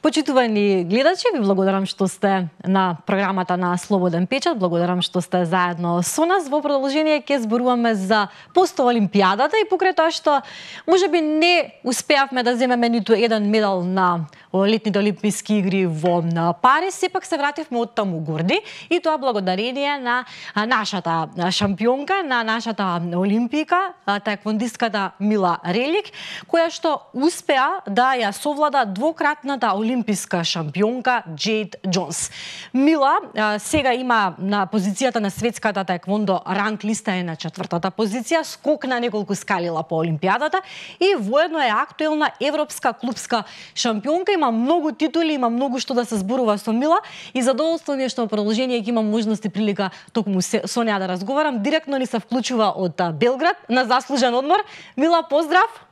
Почитувани гледачи, ви благодарам што сте на програмата на Слободен печат, благодарам што сте заедно со нас. Во продолжение ќе зборуваме за постоолимпијадата и покрај тоа што можеби не успеавме да земеме ниту еден медал на летните олимписки игри во Париз, сепак се вративме од таму горди и тоа благодарение на нашата шампионка, на нашата олимпика, таеквондистката Мила Релик, која што успеа да ја совлада двократната олимписка шампионка Џејд Џонс. Мила сега има на позицијата на светската таеквондо ранг листа е на 4-та позиција, скок на неколку скалила по олимпијадата и воедно е актуелна европска клупска шампионка. Има многу титули, има многу што да се зборува со Мила и задоволство ми е што во продолжение ќе имам можност и прилика токму со неа да разговарам. Директно ни се вклучува од Белград на заслужен одмор. Мила, поздрав!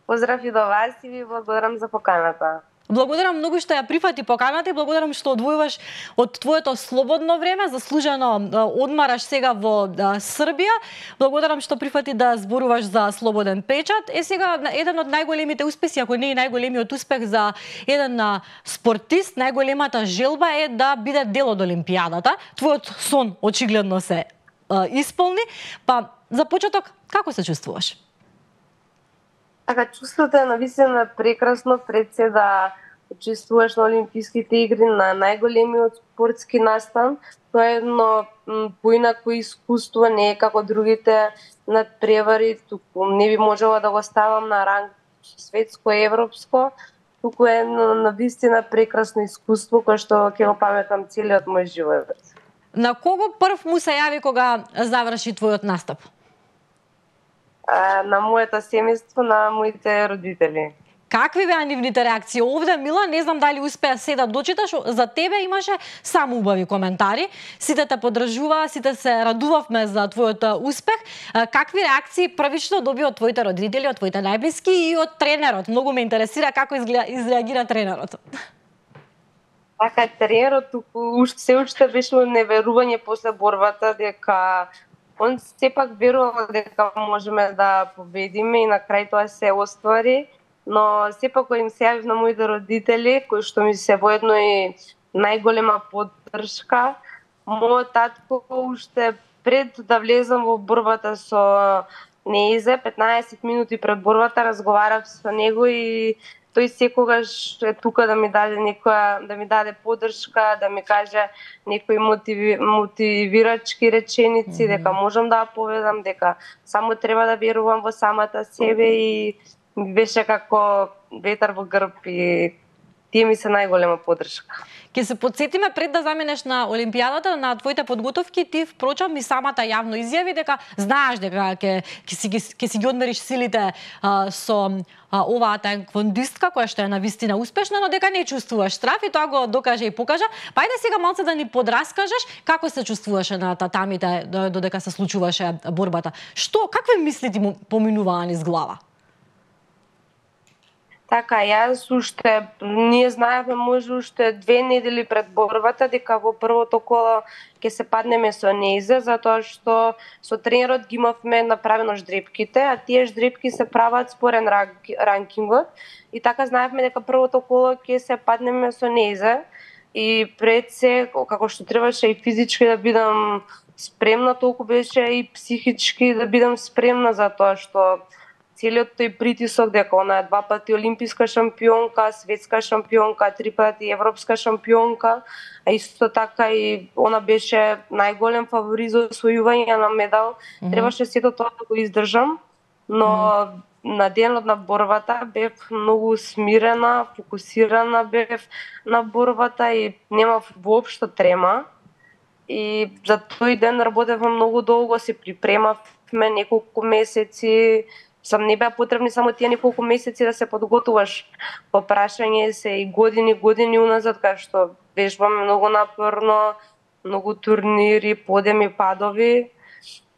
Поздрав и до вас и ви благодарам за поканата. Благодарам многу што ја прифати поканата и благодарам што одвојуваш од твоето слободно време, заслужено одмараш сега во Србија. Благодарам што прифати да зборуваш за Слободен печат. Сега еден од најголемите успеси, ако не и најголемиот успех за еден спортист, најголемата желба е да биде дел од олимпијадата. Твојот сон очигледно се исполни. Па за почеток, како се чувствуваш? Така, чувството е навистина прекрасно пред се да учествуваш на Олимписките игри, на најголемиот спортски настан. Тоа е едно поинако искуство, не е како другите надпревари, туку не би можела да го ставам на ранг светско и европско, туку е навистина прекрасно искуство кое што ќе го паметам целиот мој живот. На кого прв му се јави кога заврши твојот настап? На моето семејство, на моите родители. Какви беа нивните реакции? Овде, Мила, не знам дали успеа се да дочиташ, за тебе имаше само убави коментари. Сите те поддржуваа, сите се радувавме за твојот успех. Какви реакции првично доби од твоите родители, од твоите најблиски и од тренерот? Многу ме интересира како изреагира тренерот. Така, тренерот се уште беше неверување после борбата дека он сепак верувал дека можеме да победиме и на крај тоа се оствари, но сепак кога им се јавив на моите родители, кои што ми се воедно и најголема поддршка, мојот татко уште пред да влезам во борбата со Неизе, 15 минути пред борбата разговарав со него и тој секогаш е тука да ми даде да ми даде поддршка, да ми каже некои мотивирачки реченици, дека можам да победам, дека само треба да верувам во самата себе и беше како ветар во грб и тие ми се најголема поддршка. Ке се подсетиме пред да заминеш на Олимпијадата, на твоите подготовки, ти впрочем и самата јавно изјави дека знаеш дека ќе си ги одмериш силите со оваа таеквондистка која што е навистина успешна, но дека не чувствуваш страф и тоа го докаже и покажа. Па ајде сега малце да ни подраскажеш како се чувствуваше на татамите додека се случуваше борбата. Какви мисли ти поминуваа низ глава? Така, ние знаевме може уште 2 недели пред борбата дека во првото коло ќе се паднеме со Неизе, затоа што со тренерот ги имавме направено ждрепките, а тие ждрепки се прават според ранкингот. И така знаевме дека првото коло ќе се паднеме со Неизе и пред се, како што требаше и физички да бидам спремна, толку беше и психички да бидам спремна за тоа што целиот тој притисок дека она е 2 пати олимписка шампионка, светска шампионка, 3 пати европска шампионка, а исто така и она беше најголем фаворит за освојување на медал. Требаше сето тоа да го издржам, но на денот на борбата бев многу смирена, фокусирана бев на борбата и немав воопшто трема. И за тој ден работевме многу долго, се припремавме неколку месеци. Не беа потребни само тие неколку месеци да се подготуваш. По прашање се и години уназад, кај што вежбаме многу напорно, многу турнири, подеми, падови,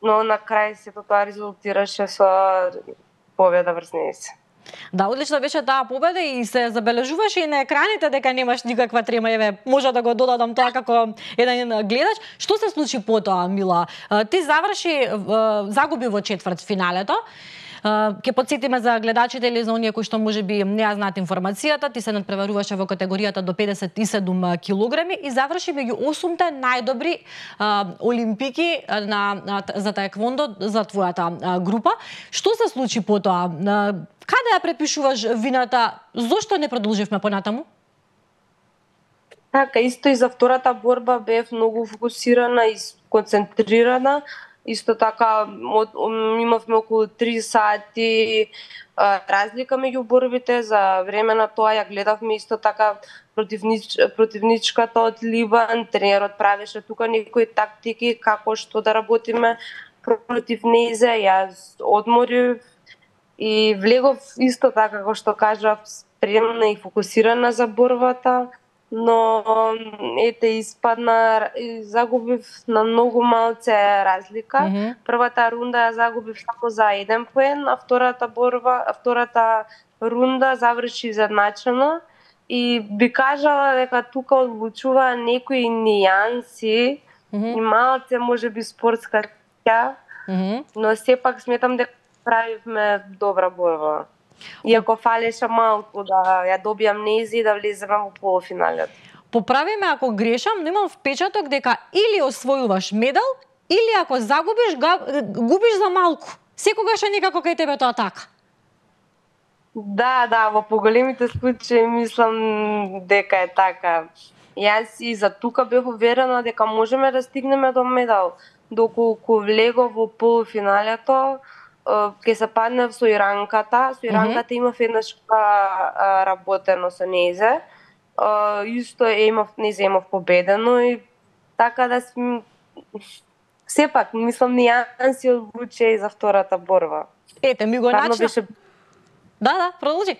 но на крај сето тоа резултираше со победа врз Неизе. Да, одлично беше таа победа и се забележуваше и на екраните дека немаш никаква трема. Еве, може да го додадам тоа како еден гледач. Што се случи потоа, Мила? Ти загуби во четвртфиналето. Ќе потсетиме за гледачите или за оние кои што можеби не ја знаат информацијата, ти се надпреваруваше во категоријата до 57 килограми и заврши меѓу 8-те најдобри олимпики за таеквондо за твојата група. Што се случи потоа? Каде ја препишуваш вината? Зошто не продолживме понатаму? Така, исто и за втората борба бев многу фокусирана и концентрирана. Исто така имавме околу 3 сати разлика меѓу борбите. За време на тоа ја гледавме исто така противничката од Либан. Тренерот правеше тука некои тактики како што да работиме против нејзе. Јас одморив и влегов исто така како што кажав, спремна и фокусирана за борбата. Но ете испадна и загубив на многу малце разлика. Првата рунда ја загубив само за 1 поен, а втората рунда заврши изедначено и би кажала дека тука одлучува некои нијанси и малце можеби спортска тја, но сепак сметам дека правивме добра борба. Иако фалеше малку да ја добијам нејзи и да влеземе во полуфиналот. Поправи ме ако грешам, но имам впечаток дека или освојуваш медал, или ако загубиш, губиш за малку. Секогаш е некако кај тебе тоа така. Да, во поголемите случаи мислам дека е така. Јас и за тука бев уверена дека можеме да стигнеме до медал. Доколку влегов во полуфиналето, ќе се паднав со Иранката. Со Иранката имав еднаш работено со нејзе. Исто нејзе имав победено и така да сепак мислам нијанси одлучи и за втората борба. Ете, ми го начна. Да, продолжи.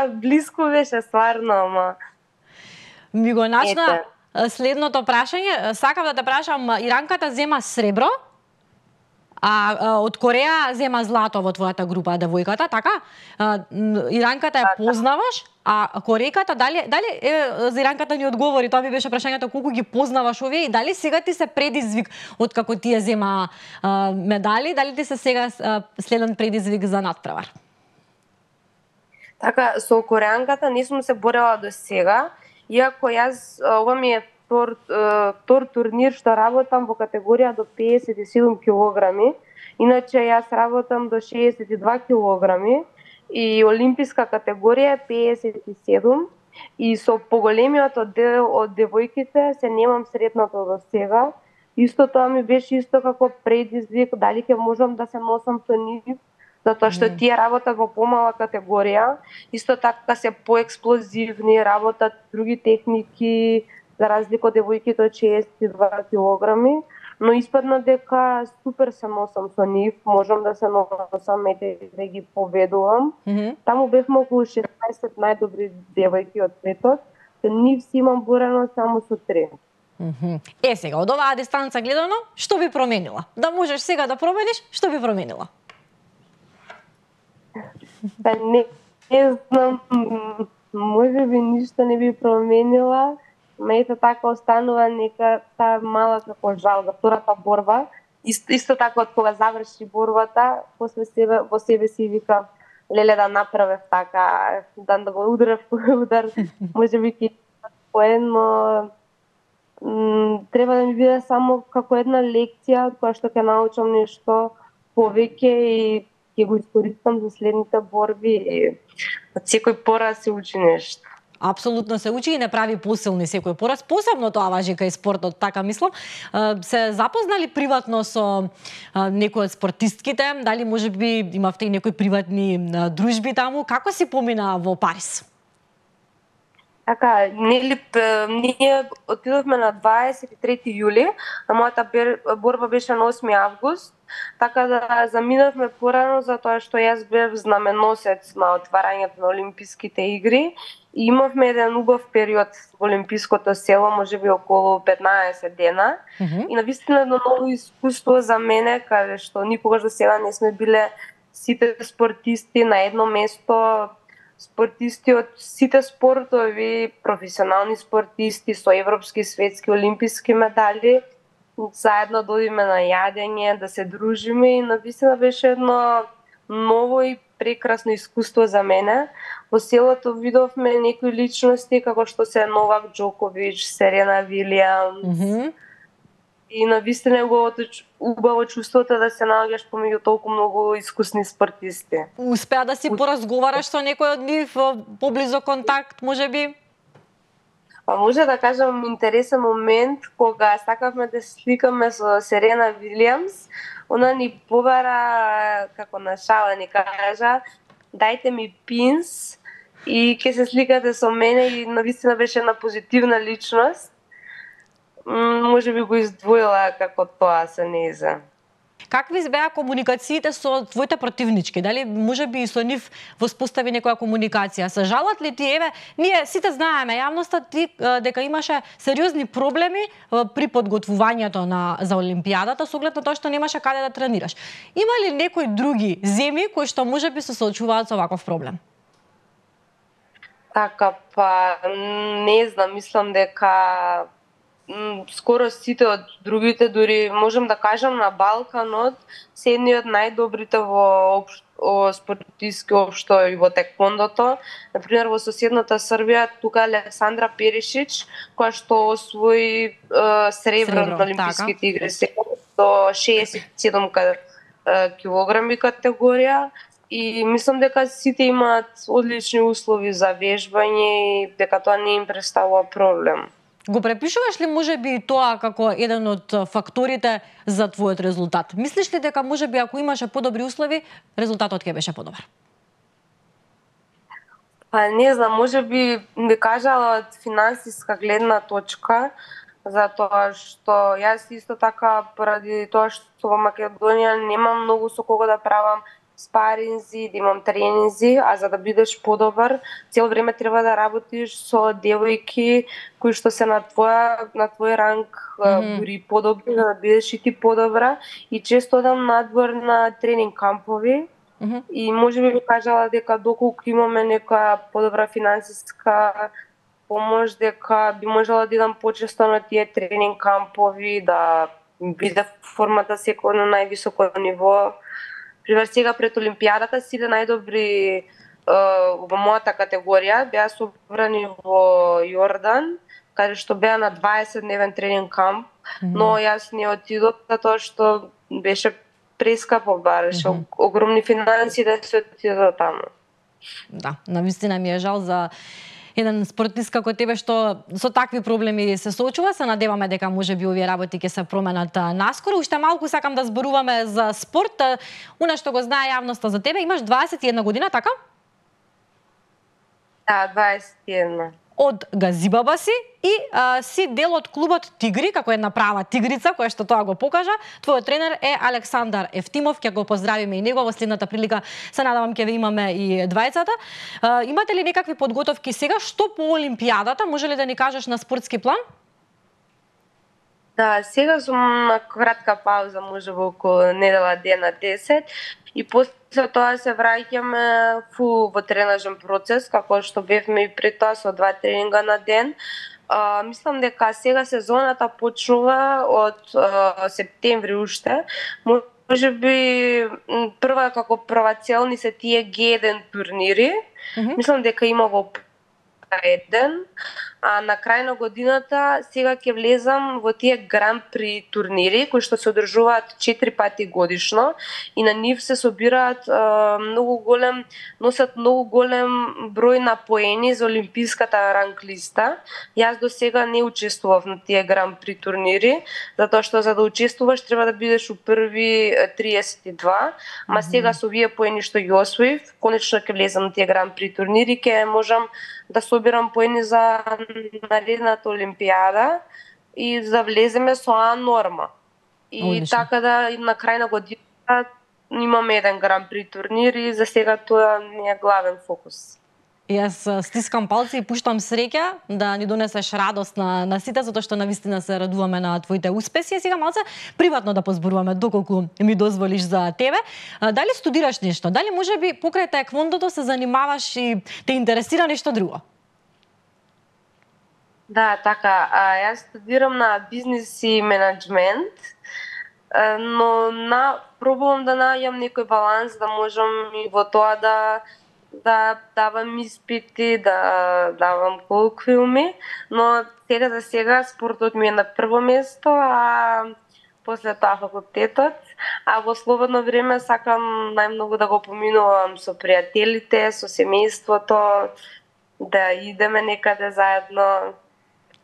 Блиску беше стварно, ама ми го начна следното прашање. Сакав да те прашам, Иранката зема сребро, а од Кореја зема злато во твојата група, девојката, така? Иранката ја познаваш, а Корејката дали за Иранката ни одговори, тоа ми беше прашањето колку ги познаваш овие и дали сега ти се предизвик откако тие зема медали, дали ти се сега следен предизвик за надпревар? Така, со Корејанката не сум се борела до сега, иако јас ова ми е втор турнир што работам во категорија до 57 килограми. Иначе јас работам до 62 килограми и олимписка категорија е 57 и со поголемиот дел од девојките се немам сретнато до сега. Исто тоа ми беше исто како предизвик дали ќе можам да се носам со нив, затоа што тие работат во помала категорија, исто така се поексплозивни, работат други техники, за разлика од девојките од 62 килограми, но испадна дека супер се носам со нив, можам да се носам и да ги победувам. Таму бевме околу 16 најдобри девојки од светот, нив си имам борено само со 3. Сега, од оваа дистанца гледано, што би променила? Да можеш сега да промениш, што би променила? Не знам, можеби ништо не би променила. Ето така останува нека таа мала како жал за втората борба. Исто така од кога заврши борбата, после себе во себе си вика леле да направев така, да го ударев удар, можеби ќе поен, но треба да ми биде само како една лекција од која што ќе научам нешто повеќе и ќе го искористам за следните борби и од секој пораз се учи нешто. Апсолутно се учи и не прави посилни секој пораз. Посебно тоа важи кај спортот, така мислам. Се запознали приватно со некои од спортистките? Дали можеби имавте и некои приватни дружби таму? Како си помина во Париз? Така, ние отидовме на 23 јули, а мојата борба беше на 8 август, така да заминавме порано затоа што јас бев знаменосец на отварањето на Олимписките игри и имавме еден убав период во Олимпиското село, можеби околу 15 дена. И навистина едно ново искуство за мене, каде што никогаш до сега не сме биле сите спортисти на едно место, спортисти од сите спортови, професионални спортисти со европски, светски, олимписки медали. заедно да одиме на јадење, да се дружиме и навистина беше едно ново и прекрасно искуство за мене. Во селото видовме некои личности како што се Новак Џоковиќ, Серена Вилијамс. И навистина е убаво чувството да се наоѓаш помеѓу толку многу искусни спортисти. Успеа да си поразговараш со некој од нив, поблизо контакт, можеби? Па може да кажам интересен момент кога сакавме да сликаме со Серена Вилијамс, она ни побара како на шала ни кажа дајте ми пинс и ќе се сликате со мене и навистина беше една позитивна личност. Може би го издвоила како тоа со нејза. Какви беа комуникациите со твоите противнички? Дали може би и со нив воспостави некоја комуникација? Се жалат ли ти, еве, ние сите знаеме, јавноста ти дека имаше сериозни проблеми при подготвувањето за Олимпијадата со оглед на тоа што немаше каде да тренираш. Има ли некои други земји кои што може би се соочуваат со ваков проблем? Така, па не знам, мислам дека скоро сите од другите, дури можем да кажам на Балканот, се едни од најдобрите во спортиски општо и во теквондото. Например, во соседната Србија, тука Александра Перишич, која што освои сребро на Олимписките игри до 67 килограми категорија. И мислам дека сите имаат одлични услови за вежбање и дека тоа не им представува проблем. Го препишуваш ли можеби тоа како еден од факторите за твојот резултат? Мислиш ли дека можеби ако имаше подобри услови, резултатот ќе беше подобар? Па не знам, можеби би кажала од финансиска гледна точка, затоа што јас исто така поради тоа што во Македонија немам многу со кого да правам спаринзи, да имам тренинзи, а за да бидеш подобар, цело време треба да работиш со девојки кои што се на твој ранг, дури подобри, да бидеш и ти подобра. И често одам надвор на тренинг кампови. И можеби би кажала дека доколку имаме некоја подобра финансиска помош, дека би можела да идам почесто на тие тренинг кампови, да биде формата секој на највисоко ниво. Пример, сега пред Олимпијадата сите најдобри во мојата категорија беа собрани во Јордан, каде што беа на 20-дневен тренинг камп, но јас не отидов затоа што беше прескапо, бареше огромни финанси да се отидов таму. Да, навистина ми е жал за еден спортист како тебе што со такви проблеми се соочува. Се надеваме дека можеби овие работи ќе се променат наскоро. Уште малку сакам да зборуваме за спорт. Она што го знае јавноста за тебе, имаш 21 година, така? Да, 21. Од Газибаба си и си дел од клубот Тигри, како една права тигрица, која што тоа го покажа. Твојот тренер е Александар Ефтимов, ќе го поздравиме и него во следната прилика. Се надевам ќе ве имаме и двајцата. Имате ли некакви подготовки сега? Што по Олимпијадата? Може ли да ни кажеш на спортски план? Да, сега сум на кратка пауза, може во околу недела дена 10 и после тоа се враќаме во тренажен процес, како што бевме и пред тоа со 2 тренинга на ден. Мислам дека сега сезоната почнува од септември уште. Можеби прва како прва цел ни се тие Г1 турнири. Мислам дека има во еден, а на крај на годината сега ќе влезам во тие Гран При турнири кои што се одржуваат 4 пати годишно и на нив се собираат носат многу голем број на поени за олимписката ранг листа. Јас до сега не учествував на тие Гран При турнири, затоа што за да учествуваш треба да бидеш у први 32, ма сега со овие поени што ги освоив, конечно ќе влезам на тие Гран При турнири, ќе можам да собирам поени за наредната Олимпијада и да влеземе со А норма. И Одлично. така да на крај на годината имаме еден Гран При турнир и за сега тоа не е главен фокус. Јас стискам палци и пуштам среќа да ни донесеш радост на сите, затоа што навистина се радуваме на твоите успеси. И сега малце приватно да позборуваме, доколку ми дозволиш за тебе. Дали студираш нешто? Дали можеби покрај таеквондото се занимаваш и те интересира нешто друго? Да, така, јас студирам на бизнис и менеджмент, но пробувам да најдам некој баланс да можам и во тоа да давам испити, да давам колоквиуми, но сега за сега спортот ми е на прво место, а после тоа факултетот, а во слободно време сакам најмногу да го поминувам со пријателите, со семејството, да идеме некаде заедно,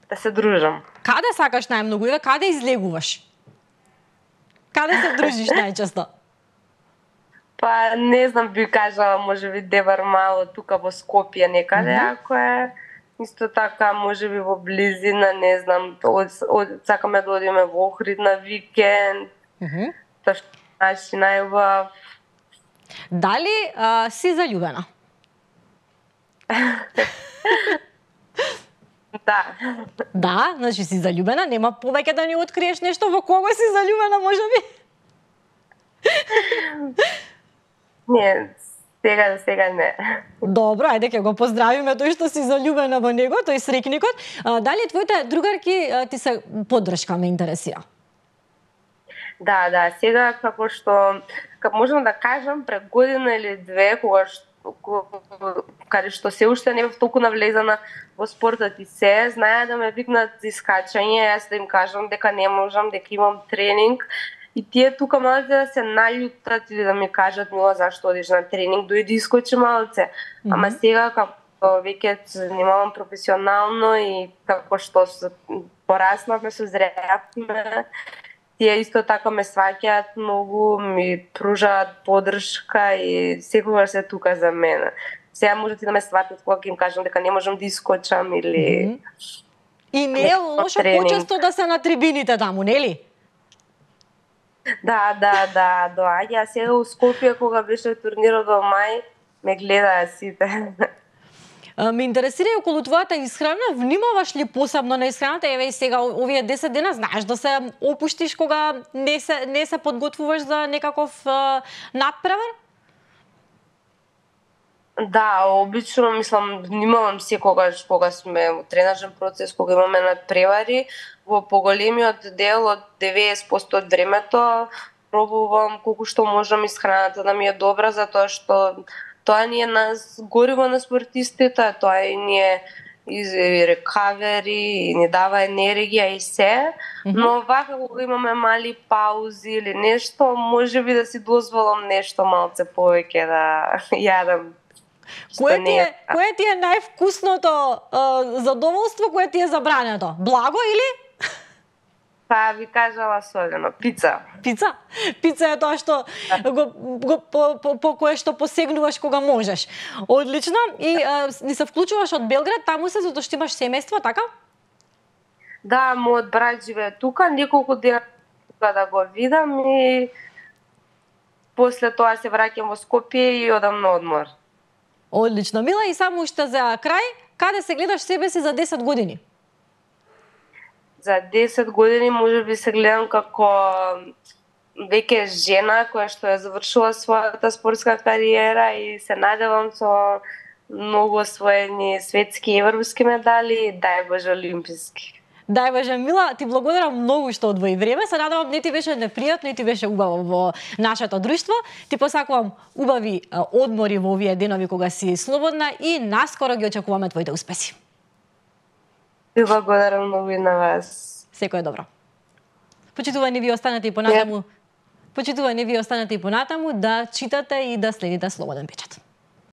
да се дружам. Каде сакаш најмногу и каде излегуваш? Каде се дружиш најчесто? Па не знам, би кажала можеби Девар мало тука во Скопје некаде, ако е исто така можеби во близина, не знам, сакаме да одиме во Охрид на викенд. Тоа што наши најубав. Дали си заљубена? Да. Да, значи си заљубена, нема повеќе да ни откриеш нешто во кого си заљубена можеби? Не, сега не. Добро, ајде ќе го поздравиме тој што си заљубена во него, тој срекникот. Дали твоите другарки ти се поддршка, ме интересира? Да, сега како можам да кажам пред година или две, каде што се уште не бев толку навлезана во спортот и се, знаеа да ме викнат за искачање, јас да им кажам дека не можам, дека имам тренинг. И тие тука малце да се наљутат или да ми кажат, Мила, зашто одиш на тренинг, дојди искочи малце. Ама сега како веќе се занимавам професионално и како што пораснавме, созреавме, тие исто така ме сваќаат многу, ми пружаат поддршка и секогаш се тука за мене. Сега можат и да ме сватат кога им кажам дека не можам да искочам или... И не е лошо почесто да се на трибините таму, нели? Да, доаѓа. Сега у Скопје кога беше турнирот во мај, ме гледаа сите. Ме интересира и околу твојата исхрана, внимаваш ли посебно на исхраната? Еве и сега овие 10 дена знаеш да се опуштиш кога не се подготвуваш за некаков надпревар? Да, обично мислам внимавам секогаш кога сме во тренажен процес, кога имаме надпревари, во поголемиот дел од 90% од времето пробувам колку што можам исхраната да ми е добра, затоа што тоа ни е нас гориво на спортистите, тоа и ни е и рекавери, и ни дава енергија и се, но вака кога имаме мали паузи или нешто, можеби да си дозволам нешто малце повеќе да јадам. Кое ти е највкусното задоволство, кое ти е забрането? Благо или? Па ви кажала солено, пица. Пица? Пица е тоа што по кое што посегнуваш кога можеш. Одлично. И ни се вклучуваш од Белград, таму се затоа што имаш семејство, така? Да, мојот брат живее тука, неколку дена да го видам и после тоа се враќам во Скопје и одам на одмор. Одлично. Мила, и само уште за крај, каде се гледаш себе си за 10 години? За 10 години можеби се гледам како веќе жена која што е завршила својата спортска кариера и се надевам со многу освоени светски и европски медали, дај Боже олимписки. Дај Боже, Мила, ти благодарам многу што одвои време. Се надевам не ти беше непријатно, не ти беше убаво во нашето друштво. Ти посакувам убави одмори во овие денови кога си слободна и наскоро ги очекуваме твоите успеси. Ви благодарам многу и на вас. Секој е добро. Почитувани ви останете и понатаму. Почитувани ви останете и понатаму да читате и да следите Слободен печат.